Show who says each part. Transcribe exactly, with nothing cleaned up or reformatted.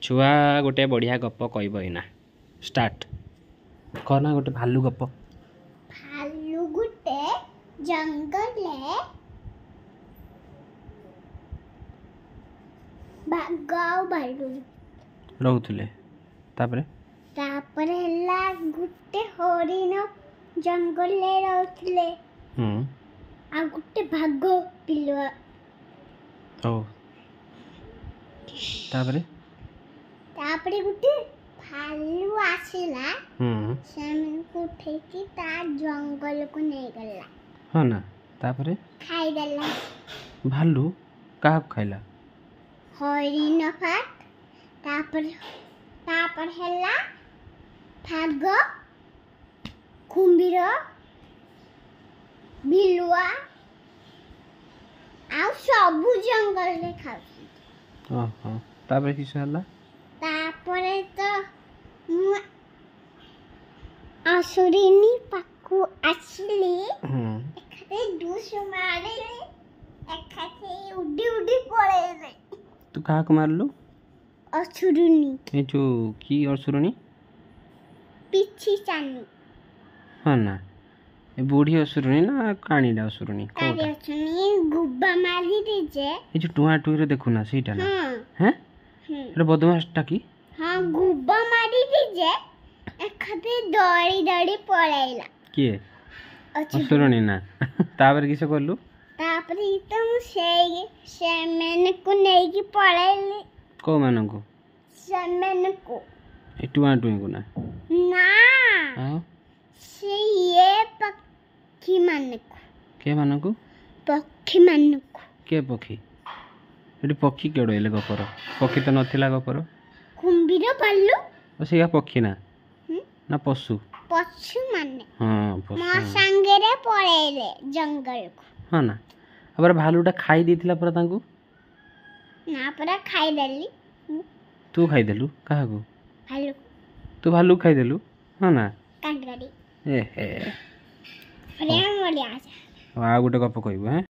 Speaker 1: ଛୁଆ ଗୋଟେ ବଢ଼ିଆ ଗପ କହିବ ଏଇନା। ଷ୍ଟାର୍ଟ କହ ନା, ଗୋଟେ ଭାଲୁ ଗପ।
Speaker 2: ଭାଲୁ ଗୋଟେ ଜଙ୍ଗଲରେ ବାଘ ଆଉ ଭାଲୁ
Speaker 1: ରହୁଥିଲେ। ତାପରେ?
Speaker 2: ତାପରେ ହେଲା ଗୋଟେ ହରିଣ ଜଙ୍ଗଲରେ ରହୁଥିଲେ
Speaker 1: ହୁଁ
Speaker 2: ଆଉ ଗୋଟେ ବାଘ ବିଲୁଆ।
Speaker 1: ହଉ, ତାପରେ?
Speaker 2: ତାପରେ ଗୋଟେ ଭାଲୁ ଆସିଲା,
Speaker 1: ହୁଁ
Speaker 2: ସେମାନଙ୍କୁ ଉଠେଇକି ତା ଜଙ୍ଗଲକୁ ନେଇଗଲା।
Speaker 1: ହଁ ନା, ତାପରେ?
Speaker 2: ଖାଇଦେଲା।
Speaker 1: ଭାଲୁ କାହାକୁ ଖାଇଲା?
Speaker 2: ହରିଣ ଫାଟ, ତାପରେ ତାପରେ ହେଲା ବାଘ, କୁମ୍ଭୀର, ବିଲୁଆ ଆଉ ସବୁ ଜଙ୍ଗଲରେ ଖାଉଛନ୍ତି।
Speaker 1: ଓହୋ, ତାପରେ କିସ ହେଲା?
Speaker 2: ତାପରେ ତ ମୁଁ ଅସୁରିନୀ ପାଖକୁ ଆସିଲି।
Speaker 1: ହୁଁ
Speaker 2: ଏକାଥରେ ଦୁଶ ମାରିଲି, ଏକାଥରେ ଉଡି ଉଡି ପଳେଇଲେ।
Speaker 1: ତୁ କାହାକୁ ମାରିଲୁ?
Speaker 2: ଅସୁରୁନି।
Speaker 1: ଏ ଯୋଉ କି ଅସୁରୁଣୀ?
Speaker 2: ପିଛି ଚାନି।
Speaker 1: ହଁ ନା, ଏ ବୁଢ଼ୀ ଅସୁରୁଣୀ ନା କାଣୀଟା ଅସୁରୁଣୀ?
Speaker 2: କାରି
Speaker 1: କୋଉଟା?
Speaker 2: ଅଛନ୍ତି ଗୁବା ମାରିଲି ଯେ।
Speaker 1: ଏ ଯୋଉ ଟୁଆଁ ଟୁଇଁରେ ଦେଖୁନା, ସେଇଟା ନା?
Speaker 2: ହଁ।
Speaker 1: ହେଁ?
Speaker 2: ହୁଁ।
Speaker 1: ଏଟା ବଦମାସଟା କି?
Speaker 2: ହଁ, ଗୁବା ମାରିଲି ଯେ ଏକାଥରେ ଦୌଡ଼ି ଦୌଡ଼ି ପଳେଇଲା।
Speaker 1: କିଏ?
Speaker 2: ଅସୁରୁଣୀ।
Speaker 1: ଅସୁରୁଣୀ ନା? ତାପରେ କିସ କଲୁ?
Speaker 2: ତାପରେ ତ ମୁଁ ସେଇ ସେମାନଙ୍କୁ ନେଇକି ପଳେଇଲି।
Speaker 1: କୋଉମାନଙ୍କୁ?
Speaker 2: ସେମାନଙ୍କୁ।
Speaker 1: ଏ ଟୁଆଁ ଟୁଇଁକୁ ନା?
Speaker 2: ନା।
Speaker 1: ଆଉ?
Speaker 2: ସେ ଇଏ ପକ୍ଷୀମାନଙ୍କୁ।
Speaker 1: କିଏ ମାନଙ୍କୁ?
Speaker 2: ପକ୍ଷୀମାନଙ୍କୁ।
Speaker 1: କିଏ ପକ୍ଷୀ? ଏଠି ପକ୍ଷୀ କେଉଁଠୁ ହେଲେ ଗପର? ପକ୍ଷୀ ତ ନଥିଲା ଗପର।
Speaker 2: କୁମ୍ଭୀର, ଭାଲୁ।
Speaker 1: ଓ, ସେଇଆ ପକ୍ଷୀ ନା?
Speaker 2: ହୁଁ।
Speaker 1: ନା ପଶୁ?
Speaker 2: ପଶୁମାନେ।
Speaker 1: ହଁ।
Speaker 2: ମୋ
Speaker 1: ପଶୁ
Speaker 2: ସାଙ୍ଗରେ ପଳେଇଲେ ଜଙ୍ଗଲକୁ।
Speaker 1: ହଁ ନା, ତାପରେ ଭାଲୁଟା ଖାଇ ଦେଇଥିଲା ପରା ତାଙ୍କୁ?
Speaker 2: ନା ପରା, ଖାଇଦେଲି ମୁଁ।
Speaker 1: ତୁ ଖାଇଦେଲୁ କାହାକୁ?
Speaker 2: ଭାଲୁକୁ।
Speaker 1: ତୁ ଭାଲୁକୁ ଖାଇଦେଲୁ, ହଁ ନା?
Speaker 2: କାଣ୍ଡ କରି।
Speaker 1: ଏ ହେ।
Speaker 2: ବଢ଼ିଆ ବଢ଼ିଆ।
Speaker 1: ଆଉ ଗୋଟେ ଗପ କହିବୁ ହେଁ?